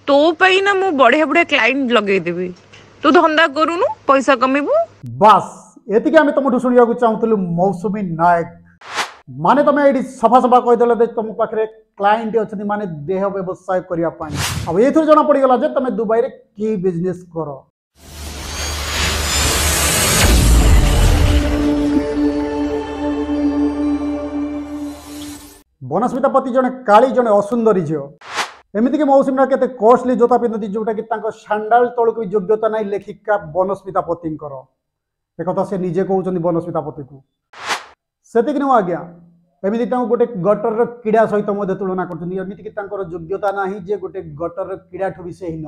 ତୋ ପାଇଁ ନା ମୁଁ ବଢିଆ ବଢିଆ କ୍ଲାଇଣ୍ଟ ଲଗେଇଦେବି। ତୁ ଧନ୍ଦା କରୁନୁ, ପଇସା କମେଇବୁ। ବାସ୍, ଏତିକି ଆମେ ତମଠୁ ଶୁଣିବାକୁ ଚାହୁଁଥିଲୁ ମୌସୁମୀ ନାୟକ। ମାନେ ତମେ ଏଇଠି ସଫା ସଫା କହିଦେଲ ଯେ ତମ ପାଖରେ କ୍ଲାଏଣ୍ଟ ଅଛନ୍ତି, ମାନେ ଦେହ ବ୍ୟବସାୟ କରିବା ପାଇଁ। ଆଉ ଏଇଥିରୁ ଜଣା ପଡ଼ିଗଲା ଯେ ତମେ ଦୁବାଇରେ କି ବିଜନେସ୍ କର। ବନସ୍ମିତା ପତି ଜଣେ କାଳି, ଜଣେ ଅସୁନ୍ଦରୀ ଝିଅ। ଏମିତିକି ମୌସୁମୀ ନାୟକ କେତେ କଷ୍ଟଲି ଜୋତା ପିନ୍ଧନ୍ତି, ଯୋଉଟାକି ତାଙ୍କ ସାଣ୍ଡାଲ ତଳକୁ ବି ଯୋଗ୍ୟତା ନାହିଁ ଲେଖିକା ବନସ୍ମିତା ପତିଙ୍କର। ଏକଥା ସେ ନିଜେ କହୁଛନ୍ତି ବନସ୍ମିତା ପତିକୁ। ସେତିକି ନୁହଁ ଆଜ୍ଞା, ଏମିତି ତାଙ୍କୁ ଗୋଟେ ଗଟରର କିଡ଼ା ସହିତ ମଧ୍ୟ ତୁଳନା କରୁଛନ୍ତି। ଏମିତିକି ତାଙ୍କର ଯୋଗ୍ୟତା ନାହିଁ ଯେ ଗୋଟେ ଗଟରର କିଡ଼ାଠୁ ବି ସେ ହୀନ।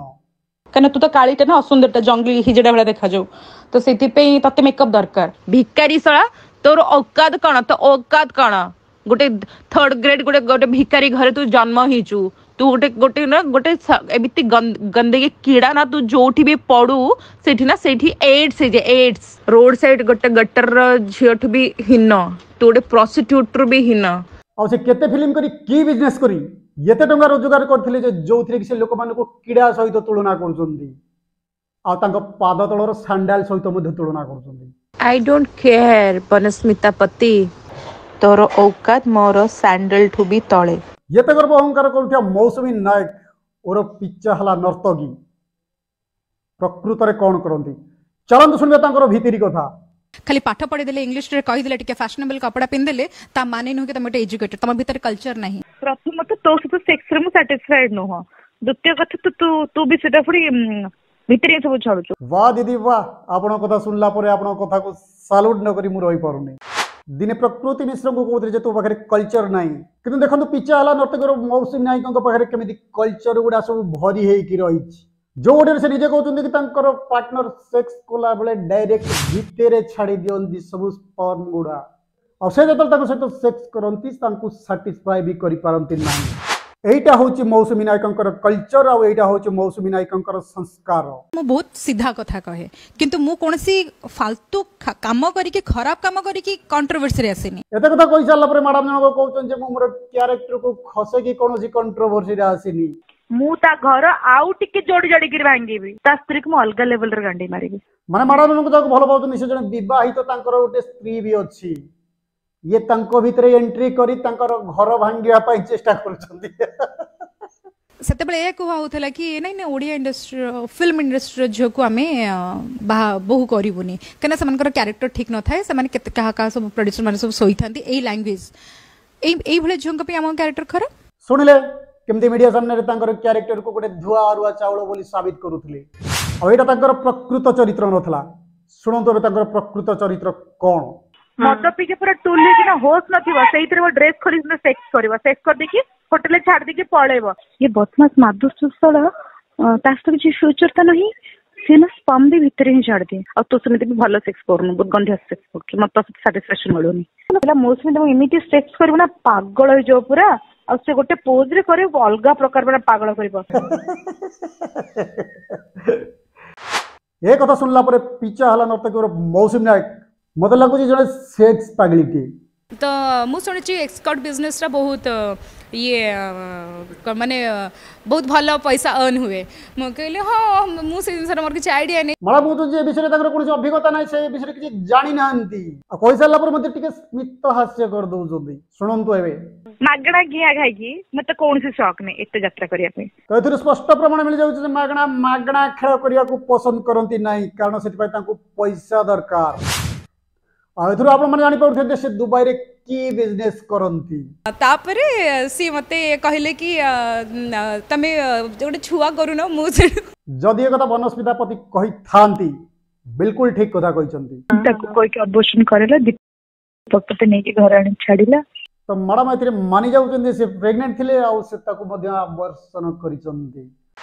କାହିଁକିନା ତୁ ତ କାଳିଟା ନା, ଅସୁନ୍ଦରଟା, ଜଙ୍ଗଲି ହିଜଡା ଭଳିଆ ଦେଖାଯାଉ, ତ ସେଥିପାଇଁ ତତେ ମେକଅପ୍ ଦରକାର। ଭିକାରୀ ଶଳା, ତୋର ଔକାତ କଣ? ତୋ ଔକାତ କଣ? ଗୋଟେ ଥର୍ଡ ଗ୍ରେଡ୍, ଗୋଟେ ଭିକାରୀ ଘରେ ତୁ ଜନ୍ମ ହେଇଛୁ। ତୁ ଗୋଟେ ଗୋଟେ ନା ଗୋଟେ ଏମିତି ଗନ୍ଦେକି କିଡ଼ା ନା, ତୁ ଯୋଉଠି ବି ପଡୁ ସେଠି ନା ସେଇଠି ଏଡ୍ସ ହେଇଯାଏ, ଏଡ୍ସ। ରୋଡ ସାଇଡ୍ ଗୋଟେ ଗଟରର ଝିଅଠୁ ବି ହୀନ ତୁ, ଗୋଟେ ପ୍ରଷ୍ଟିଟ୍ୟୁଟରୁ ବି ହୀନ। ଆଉ ସେ କେତେ ଫିଲ୍ମ କରି, କି ବିଜନେସ୍ କରି ଏତେ ଟଙ୍କା ରୋଜଗାର କରିଥିଲେ ଯେ ଯୋଉଥିରେ କି ସେ ଲୋକମାନଙ୍କୁ କିଡ଼ା ସହିତ ତୁଳନା କରୁଛନ୍ତି, ଆଉ ତାଙ୍କ ପାଦ ତଳର ସାଣ୍ଡାଲ ସହିତ ମଧ୍ୟ ତୁଳନା କରୁଛନ୍ତି। I don't care Banasmita ପତି, ତୋର ଔକାତ ମୋର ସ୍ୟାଣ୍ଡେଲଠୁ ବି ତଳେ। ଏତେ ଗର୍ବ ଅହଙ୍କାର କରୁଥିବା ମୌସୁମୀ ନାୟକ ଓର ପିଚା ହେଲା ନର୍ତ୍ତକୀ ପ୍ରକୃତରେ କ'ଣ କରନ୍ତି, ଚାଲନ୍ତୁ ଶୁଣିବା ତାଙ୍କର ଭିତିରି କଥା। ଖାଲି ପାଠ ପଢିଦେଲେ, ଇଂଲିଶରେ କହିଦେଲେ, ଟିକେ ଫ୍ୟାସନେବଲ କପଡା ପିନ୍ଧିଦେଲେ, ତା ମାନେ ନୁହେଁ କି ତମେ ଗୋଟେ ଏଜୁକେଟେଡ। ତମ ଭିତରେ କଲଚର ନାହିଁ। ପ୍ରଥମତଃ ତୋ ସହିତ ସେକ୍ସରେ ମୁଁ ସାଟିସ୍ଫାଏଡ ନୁହଁ। ଦ୍ୱିତୀୟ କଥା, ତୁ ତୁ ତୁ ବି ସେଟା ପୁଣି ଭିତରେ ସବୁ ଛାଡୁଛୁ। ବାह ଦିଦି ବାह, ଆପଣଙ୍କ କଥା ଶୁଣିଲା ପରେ ଆପଣଙ୍କ କଥାକୁ ସାଲ୍ୟୁଟ୍ ନ କରି ମୁଁ ରହିପାରୁନି। ଦିନେ ପ୍ରକୃତି ମିଶ୍ରଙ୍କୁ କହୁଥିଲେ ଯେ ତୋ ପାଖରେ କଲଚର ନାହିଁ, କିନ୍ତୁ ଦେଖନ୍ତୁ ପିଚା ହେଲା ନର୍ତ୍ତକର ମୌସୁମୀ ନାୟକଙ୍କ ପାଖରେ କେମିତି କଲଚର ଗୁଡ଼ା ସବୁ ଭରି ହେଇକି ରହିଛି, ଯୋଉଠିରେ ସେ ନିଜେ କହୁଛନ୍ତି କି ତାଙ୍କର ପାର୍ଟନର ସେକ୍ସ କଲାବେଳେ ଡାଇରେକ୍ଟ ଭିତରେ ଛାଡ଼ି ଦିଅନ୍ତି ସବୁ ସ୍ପର୍ମ ଗୁଡ଼ା, ଆଉ ସେ ଯେତେବେଳେ ତାଙ୍କ ସହିତ ସେକ୍ସ କରନ୍ତି ତାଙ୍କୁ ସାଟିସ୍ଫାଏ ବି କରିପାରନ୍ତି ନାହିଁ। ଏଇଟା ହେଉଛି ମୌସୁମୀ ନାୟକଙ୍କର କଲଚର, ଆଉ ଏଇଟା ହେଉଛି ମୌସୁମୀ ନାୟକଙ୍କର ସଂସ୍କାର। ମୁଁ ବହୁତ ସିଧା କଥା କହେ, କିନ୍ତୁ ମୁଁ କୌଣସି ଫାଲତୁ କାମ କରିକି, ଖରାପ କାମ କରିକି କଣ୍ଟ୍ରୋଭର୍ସିରେ ଆସିନି। ଏତେ କଥା କହିସାରିଲା ପରେ ମ୍ୟାଡାମ ଜଣକ କହୁଛନ୍ତି ଯେ ମୁଁ ମୋର କ୍ୟାରେକ୍ଟରକୁ ଖସେଇକି କୌଣସି କଣ୍ଟ୍ରୋଭର୍ସିରେ ଆସିନି। ମୁଁ ତା ଘର ଆଉ ଟିକେ ଯୋଡି ଯୋଡିକିରି ଭାଙ୍ଗିବି, ତା ସ୍ତ୍ରୀକୁ ମୁଁ ଅଲଗା ଲେଭେଲରେ ଗାଣ୍ଡି ମାରିବି। ମାନେ ମ୍ୟାଡାମ ଜଣକ ଯାହାକୁ ଭଲ ପାଉଛନ୍ତି ସେ ଜଣେ ବିବାହିତ, ତାଙ୍କର ଗୋଟେ ସ୍ତ୍ରୀ ବି ଅଛି। ଇଏ ତାଙ୍କ ଭିତରେ ଏଣ୍ଟ୍ରି କରି ତାଙ୍କର ଘର ଭାଙ୍ଗିବା ପାଇଁ ଚେଷ୍ଟା କରୁଛନ୍ତି। ସେତେବେଳେ ଏହା କୁହା ହଉଥିଲା କି ନାଇଁ ନାଇଁ, ଓଡ଼ିଆ ଇଣ୍ଡଷ୍ଟ୍ରିର, ଫିଲ୍ମ ଇଣ୍ଡଷ୍ଟ୍ରିର ଝିଅକୁ ଆମେ ବାହା ବୋହୁ କରିବୁନି, କାହିଁକିନା ସେମାନଙ୍କର କ୍ୟାରେକ୍ଟର ଠିକ୍ ନଥାଏ, ସେମାନେ କେତେ କାହା କାହା ସବୁ ପ୍ରଡ୍ୟୁସର ମାନେ ସବୁ ଶୋଇଥାନ୍ତି। ଏଇ ଲାଙ୍ଗୁଏଜ, ଏଇଭଳିଆ ଝିଅଙ୍କ ପାଇଁ ଆମ କ୍ୟାରେକ୍ଟର ଖରାପ। ଶୁଣିଲେ କେମିତି ମିଡିଆ ସାମ୍ନାରେ ତାଙ୍କର କ୍ୟାରେକ୍ଟରକୁ ଗୋଟେ ଧୁଆ ଅରୁଆ ଚାଉଳ ବୋଲି ସାବିତ କରୁଥିଲେ, ଆଉ ଏଇଟା ତାଙ୍କର ପ୍ରକୃତ ଚରିତ୍ର ନଥିଲା। ଶୁଣନ୍ତୁ ଏବେ ତାଙ୍କର ପ୍ରକୃତ ଚରିତ୍ର କ'ଣ। ମଦ ପିଇକି ପୁରା ଟୁଲ ହେଇକିନା ହୋସ୍ ନଥିବ, ସେଇଥିରେ ଡ୍ରେସ୍ ଖୋଲି ସେକ୍ସ କରିବ, ସେକ୍ସ କରିଦେଇକି ହୋଟେଲରେ ଛାଡି ଦେଇକି ପଳେଇବ। ଇଏ ବଦମାସ ମାଦୁସୁସ୍ଥଳ, ତା ସହିତ କିଛି ଫ୍ୟୁଚର ତ ନାହିଁ। ସେ ନା ସ୍ପମ୍ ବି ଭିତରେ ହିଁ ଛାଡ଼ିଦିଏ। ଆଉ ତୁ ସେମିତି ବି ଭଲ ସେକ୍ସ କରୁନୁ, ବହୁତ ଗନ୍ଧିଆ ସେକ୍ସ କରୁଛୁ, ମତେ ତୋ ସହିତ ସାଟିସ୍ଫାକ୍ସନ ମିଳୁନି। ମୌସୁମୀ ତମକୁ ଏମିତି ସେକ୍ସ କରିବ ନା ପାଗଳ ହେଇଯିବ ପୁରା, ଆଉ ସେ ଗୋଟେ ପୋଜରେ କରିବ ଅଲଗା ପ୍ରକାର, ପୁରା ପାଗଳ କରିବ। ଏ କଥା ଶୁଣିଲା ପରେ ପିଚା ହେଲା ନର୍ତ୍ତକୀର ମୌସୁମୀ ନାୟକ ମତେ ଲାଗୁଛି ଜଣେ ସେକ୍ସ ପାଗଳିଟିଏ। ତ ମୁଁ ଶୁଣିଛି ଏକ୍ସକର୍ଟ ବିଜନେସଟା ବହୁତ ଇଏ, ମାନେ ବହୁତ ଭଲ ପଇସା ଅର୍ନ ହୁଏ। ମୁଁ କହିଲି ହଁ, ମୁଁ ସେ ଜିନିଷର ମୋର କିଛି ଆଇଡ଼ିଆ ନେଇ। ମ୍ୟାଡ଼ାମ କହୁଛନ୍ତି ଯେ ଏ ବିଷୟରେ ତାଙ୍କର କୌଣସି ଅଭିଜ୍ଞତା ନାହିଁ, ସେ ବିଷୟରେ କିଛି ଜାଣିନାହାନ୍ତି, ଆଉ କହିସାରିଲା ପରେ ମଧ୍ୟ ଟିକେ ସ୍ମିତ ହାସ୍ୟ କରିଦଉଛନ୍ତି। ଶୁଣନ୍ତୁ ଏବେ। ମାଗଣା ଘିଆ ଖାଇକି ମତେ କୌଣସି ଶକ୍ ନାହିଁ ଏତେ ଯାତ୍ରା କରିବା ପାଇଁ। ତ ଏଥିରୁ ସ୍ପଷ୍ଟ ପ୍ରମାଣ ମିଳିଯାଉଛି ଯେ ମାଗଣା ମାଗଣା ଖେଳ କରିବାକୁ ପସନ୍ଦ କରନ୍ତି ନାହିଁ, କାରଣ ସେଥିପାଇଁ ତାଙ୍କୁ ପଇସା ଦରକାର। ଆଉ ଏଥିରୁ ଆପଣମାନେ ଜାଣିପାରୁଥିବେ ଯେ ସେ ଦୁବାଇରେ କି ବିଜନେସ୍ କରନ୍ତି। ତାପରେ ସିଏ ମତେ କହିଲେ କି ତମେ ଗୋଟେ ଛୁଆ କରୁନ। ମୁଁ ସେଠୁ ଯଦି ଏ କଥା ବନସ୍ମିତା ପତି କହିଥାନ୍ତି, ବିଲକୁଲ ଠିକ କଥା କହିଛନ୍ତି। ତାକୁ କହିକି ଅବର୍ସନ କରିଲା, ଦୀପକ ତତେ ନେଇକି ଘରେ ଆଣି ଛାଡିଲା। ତ ମ୍ୟାଡ଼ାମ ଏଥିରେ ମାନି ଯାଉଛନ୍ତି ସେ ପ୍ରେଗନେଣ୍ଟ ଥିଲେ, ଆଉ ସେ ତାକୁ ମଧ୍ୟ ଆବର୍ଷନ କରିଛନ୍ତି।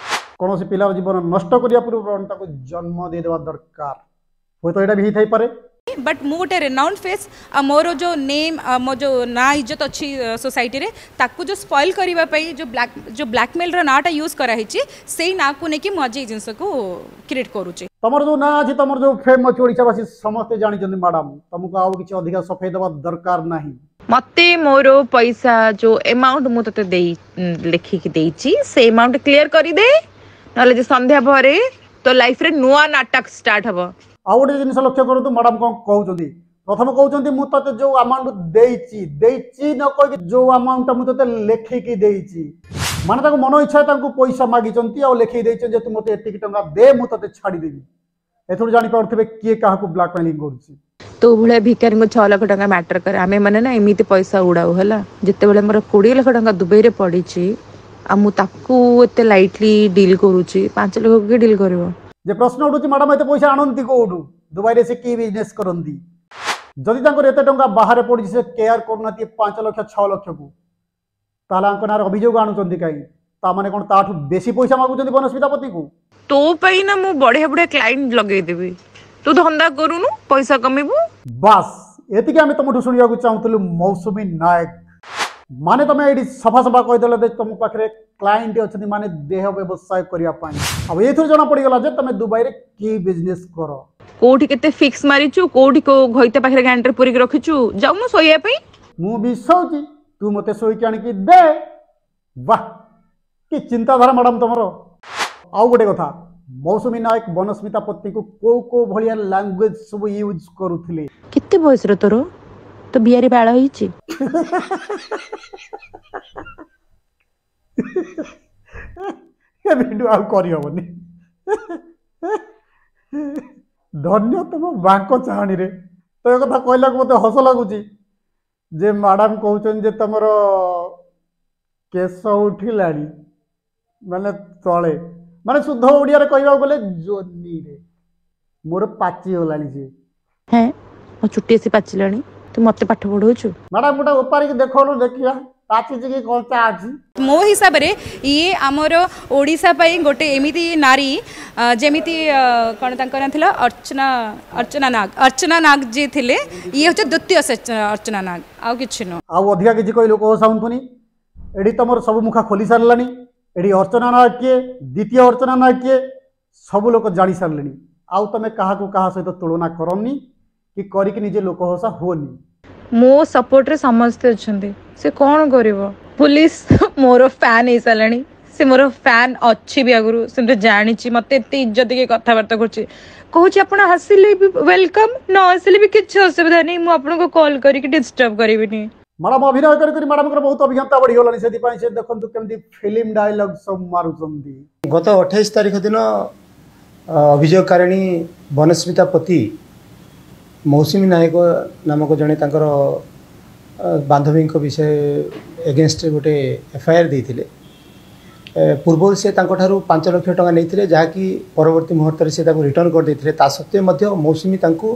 କୌଣସି ପିଲାର ଜୀବନ ନଷ୍ଟ କରିବା ପୂର୍ବରୁ ତାକୁ ଜନ୍ମ ଦେଇଦେବା ଦରକାର। ହୁଏତ ଏଇଟା ବି ହେଇଥାଇପାରେ। ବଟ୍ ମୁଁ ଗୋଟେ ରେନାଉଣ୍ଡ ଫେସ୍, ଆଉ ମୋର ଯେଉଁ ନେମ୍, ମୋ ଯେଉଁ ନାଁ ଇଜ୍ଜତ ଅଛି ସୋସାଇଟିରେ, ତାକୁ ଯେଉଁ ସ୍ପଏଲ୍ କରିବା ପାଇଁ ଯେଉଁ ବ୍ଲାକମେଲ୍ର ନାଁଟା ୟୁଜ୍ କରାହେଇଛି, ସେଇ ନାଁକୁ ନେଇକି ମୁଁ ଆଜି ଏଇ ଜିନିଷକୁ କ୍ରିଏଟ୍ କରୁଛି। ତମର ଯୋଉ ନାଁ ଅଛି, ତମର ଯୋଉ ଫେମ୍ ଅଛି, ଓଡ଼ିଶାବାସୀ ସମସ୍ତେ ଜାଣିଛନ୍ତି ମ୍ୟାଡ଼ାମ, ତମକୁ ଆଉ କିଛି ଅଧିକା ସଫେଇ ଦେବା ଦରକାର ନାହିଁ। ମତେ ମୋର ପଇସା, ଯୋଉ ଏମାଉଣ୍ଟ ମୁଁ ତତେ ଦେଇ ଲେଖିକି ଦେଇଛି, ସେ ଏମାଉଣ୍ଟ କ୍ଲିୟର କରିଦେ, ନହେଲେ ଯେ ସନ୍ଧ୍ୟା ପରେ ତୋ ଲାଇଫରେ ନୂଆ ନାଟକ ଷ୍ଟାର୍ଟ ହବ। ଆଉ ଗୋଟେ ଜିନିଷ ଲକ୍ଷ୍ୟ କରନ୍ତୁ, ମ୍ୟାଡ଼ାମ କ'ଣ କହୁଛନ୍ତି। ପ୍ରଥମ କହୁଛନ୍ତି ମୁଁ ତତେ ଯୋଉ ଆମାଉଣ୍ଟ ଦେଇଛି, ଦେଇଛି ନ କହିକି ଯୋଉ ଆମାଉଣ୍ଟଟା ମୁଁ ତତେ ଲେଖିକି ଦେଇଛି, ମାନେ ତାଙ୍କୁ ମନ ଇଚ୍ଛା ତାଙ୍କୁ ପଇସା ମାଗିଛନ୍ତି ଆଉ ଲେଖିକି ଦେଇଛନ୍ତି ଯେ ତୁ ମୋତେ ଏତିକି ଟଙ୍କା ଦେ, ମୁଁ ତତେ ଛାଡ଼ିଦେବି। ଏଥିରୁ ଜାଣିପାରୁଥିବେ କିଏ କାହାକୁ ବ୍ଲାକମେଲିଂ କରୁଛି। ତୋ ଭଳିଆ ଭିକାରୀଙ୍କୁ 6 ଲକ୍ଷ ଟଙ୍କା ମ୍ୟାଟର କରେ। ଆମେ ମାନେ ନା ଏମିତି ପଇସା ଉଡାଉ ହେଲା। ଯେତେବେଳେ ମୋର 20 ଲକ୍ଷ ଟଙ୍କା ଦୁବାଇରେ ପଡିଛି ଆଉ ମୁଁ ତାକୁ ଏତେ ଲାଇଟଲି ଡିଲ୍ କରୁଛି, 5 ଲକ୍ଷକୁ କିଏ ଡିଲ୍ କରିବ? ଯେ ପ୍ରଶ୍ନ ଉଠୁଛି ମ୍ୟାଡ଼ାମ ଏତେ ପଇସା ଆଣନ୍ତି କୋଉଠୁ? ଦୁବାଇରେ ସେ କି ବିଜନେସ୍ କରନ୍ତି? ଯଦି ତାଙ୍କର ଏତେ ଟଙ୍କା ବାହାରେ ପଡ଼ିଛି, ସେ କେୟାର କରୁନାହାନ୍ତି 5 ଲକ୍ଷ 6 ଲକ୍ଷକୁ, ତାହେଲେ ଆଙ୍କ ନାଁରେ ଅଭିଯୋଗ ଆଣୁଛନ୍ତି କାହିଁକି? ତା ମାନେ କ'ଣ ତାଠୁ ବେଶୀ ପଇସା ମାଗୁଛନ୍ତି ବନସ୍ମିତା ପତିକୁ? ତୋ ପାଇଁ ନା ମୁଁ ବଢିଆ ବଢିଆ କ୍ଲାଇଣ୍ଟ ଲଗେଇଦେବି, ତୁ ଧନ୍ଦା କରୁନୁ, ପଇସା କମିବୁ। ବାସ୍ ଏତିକି ଆମେ ତମଠୁ ଶୁଣିବାକୁ ଚାହୁଁଥିଲୁ ମୌସୁମୀ ନାୟକ। ମାନେ ତମେ ଏଇଠି ସଫା ସଫା କହିଦେଲ ଯେ ତମ ପାଖରେ କ୍ଲାଏଣ୍ଟ ଅଛନ୍ତି, ମାନେ ଦେହ ବ୍ୟବସାୟ କରିବା ପାଇଁ। ଆଉ ଏଇଥିରୁ ଜଣା ପଡ଼ିଗଲା ଯେ ତମେ ଦୁବାଇରେ କି ବିଜନେସ୍ କର। କୋଉଠି କେତେ ଫିକ୍ସ ମାରିଛୁ, କୋଉଠି କୋଉ ଘଇତା ପାଖରେ ଗାଣ୍ଟରେ ପୁରିକି ରଖିଛୁ, ଯାଉନୁ ଶୋଇବା ପାଇଁ। ମୁଁ ବି ଶୋଉଛି, ତୁ ମୋତେ ଶୋଇକି ଆଣିକି ଦେ। ବାহ କି ଚିନ୍ତାଧାରା ମ୍ୟାଡ଼ାମ ତମର। ଆଉ ଗୋଟେ କଥା, ମୌସୁମୀ ନାୟକ ବନସ୍ମିତା ପତିକୁ କୋଉ କୋଉ ଭଳିଆ ଲାଙ୍ଗୁଏଜ ସବୁ ୟୁଜ୍ କରୁଥିଲେ? କେତେ ବୟସର ତୋର? ତୋ ବିଆରେ ବାଳ ହେଇଛି? ଏ ଭିଡ଼ିଓ ଆଉ କରିହବନି। ଧନ୍ୟ ତମ ବାଙ୍କ ଚାହାଣୀରେ। ତ ଏ କଥା କହିଲାକୁ ମୋତେ ହସ ଲାଗୁଛି ଯେ ମ୍ୟାଡ଼ାମ କହୁଛନ୍ତି ଯେ ତମର କେଶ ଉଠିଲାଣି, ମାନେ ତଳେ, ମାନେ ଶୁଦ୍ଧ ଓଡ଼ିଆରେ କହିବାକୁ ଗଲେ ଜୋନିରେ ମୋର ପାଚିଗଲାଣି ସିଏ। ହେଁ, ମୋ ଚୁଟି ଆସି ପାଚିଲାଣି, ତୁ ମତେ ପାଠ ପଢଉଛୁ? ମ୍ୟାଡ଼ାମ ଗୋଟେ ଓପାରିକି ଦେଖଉନୁ, ଦେଖିବା ପାଚିଛି କି କଞ୍ଚା ଅଛି। ମୋ ହିସାବରେ ଇଏ ଆମର ଓଡ଼ିଶା ପାଇଁ ଗୋଟେ ଏମିତି ନାରୀ, ଯେମିତି କ'ଣ ତାଙ୍କ ନାଁ ଥିଲା, ଅର୍ଚ୍ଚନା, ଅର୍ଚ୍ଚନା ନାଗ, ଅର୍ଚ୍ଚନା ନାଗ ଯିଏ ଥିଲେ, ଇଏ ହେଉଛି ଦ୍ୱିତୀୟ ଅର୍ଚ୍ଚନା ନାଗ, ଆଉ କିଛି ନୁହଁ। ଆଉ ଅଧିକା କିଛି କହି ଲୋକ ହସାଉନ୍ତୁନି। ଏଠି ତମର ସବୁ ମୁଖା ଖୋଲି ସାରିଲାଣି। ଏଠି ଅର୍ଚ୍ଚନା ନାୟକ କିଏ, ଦ୍ୱିତୀୟ ଅର୍ଚ୍ଚନା ନାୟକ କିଏ, ସବୁ ଲୋକ ଜାଣି ସାରିଲେଣି। ଆଉ ତମେ କାହାକୁ କାହା ସହିତ ତୁଳନା କରନି କି କରିକି ନିଜେ ଲୋକ ହସା ହୁଅନି। ମୋ ସପୋର୍ଟରେ ସମସ୍ତେ ଅଛନ୍ତି, ସେ କ'ଣ କରିବ? ପୋଲିସ ମୋର ଫ୍ୟାନ୍ ହେଇସାରିଲାଣି, ସେ ମୋର ଫ୍ୟାନ୍ ଅଛି ବି ଆଗରୁ, ସେମିତି ଜାଣିଛି ମତେ ଏତେ ଇଜ୍ଜତ ଦେଇକି କଥାବାର୍ତ୍ତା କରୁଛି। କହୁଛି ଆପଣ ଆସିଲେ ବି welcome, ନ ଆସିଲେ ବି କିଛି ଅସୁବିଧା ନାହିଁ, ମୁଁ ଆପଣଙ୍କୁ କଲ୍ କରିକି ଡିଷ୍ଟର୍ବ କରିବିନି। ମ୍ୟାଡ଼ାମ ଅଭିନୟ କରି କରି ମ୍ୟାଡ଼ାମଙ୍କର ବହୁତ ଅଭିଜ୍ଞତା ବଢ଼ିଗଲାଣି, ସେଥିପାଇଁ ସେ ଦେଖନ୍ତୁ କେମିତି ଫିଲ୍ମ ଡାଇଲଗ ସବୁ ମାରୁଛନ୍ତି। ଗତ 28 ତାରିଖ ଦିନ ଅଭିଯୋଗକାରିଣୀ ବନସ୍ମିତା ପତି ମୌସୁମୀ ନାୟକ ନାମକ ଜଣେ ତାଙ୍କର ବାନ୍ଧବୀଙ୍କ ବିଷୟ ଏଗେନଷ୍ଟରେ ଗୋଟେ ଏଫଆଇଆର୍ ଦେଇଥିଲେ। ପୂର୍ବରୁ ସେ ତାଙ୍କଠାରୁ 5 ଲକ୍ଷ ଟଙ୍କା ନେଇଥିଲେ, ଯାହାକି ପରବର୍ତ୍ତୀ ମୁହୂର୍ତ୍ତରେ ସେ ତାକୁ ରିଟର୍ଣ୍ଣ କରିଦେଇଥିଲେ। ତା ସତ୍ତ୍ୱେ ମଧ୍ୟ ମୌସୁମୀ ତାଙ୍କୁ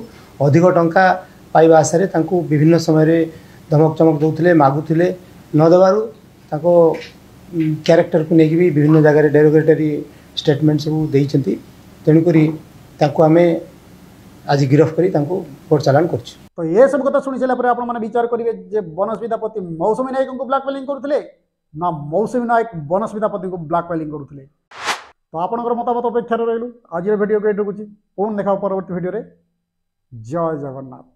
ଅଧିକ ଟଙ୍କା ପାଇବା ଆଶାରେ ତାଙ୍କୁ ବିଭିନ୍ନ ସମୟରେ ଧମକ ଚମକ ଦେଉଥିଲେ, ମାଗୁଥିଲେ। ନ ଦେବାରୁ ତାଙ୍କ କ୍ୟାରେକ୍ଟରକୁ ନେଇକି ବି ବିଭିନ୍ନ ଜାଗାରେ ଡେରୋଗେଟରୀ ଷ୍ଟେଟମେଣ୍ଟ ସବୁ ଦେଇଛନ୍ତି। ତେଣୁକରି ତାଙ୍କୁ ଆମେ ଆଜି ଗିରଫ କରି ତାଙ୍କୁ କୋର୍ଟ ଚାଲାଣ କରୁଛୁ। ତ ଏସବୁ କଥା ଶୁଣି ସାରିଲା ପରେ ଆପଣମାନେ ବିଚାର କରିବେ ଯେ ବନସ୍ମିତା ପତି ମୌସୁମୀ ନାୟକଙ୍କୁ ବ୍ଲାକମେଲିଂ କରୁଥିଲେ ନା ମୌସୁମୀ ନାୟକ ବନସ୍ମିତା ପତିଙ୍କୁ ବ୍ଲାକମେଲିଂ କରୁଥିଲେ। ତ ଆପଣଙ୍କର ମତାମତ ଅପେକ୍ଷାରେ ରହିଲୁ। ଆଜିର ଭିଡ଼ିଓକୁ ଏଇଠି ରଖୁଛି, ପୁଣି ଦେଖା ପରବର୍ତ୍ତୀ ଭିଡ଼ିଓରେ। ଜୟ ଜଗନ୍ନାଥ।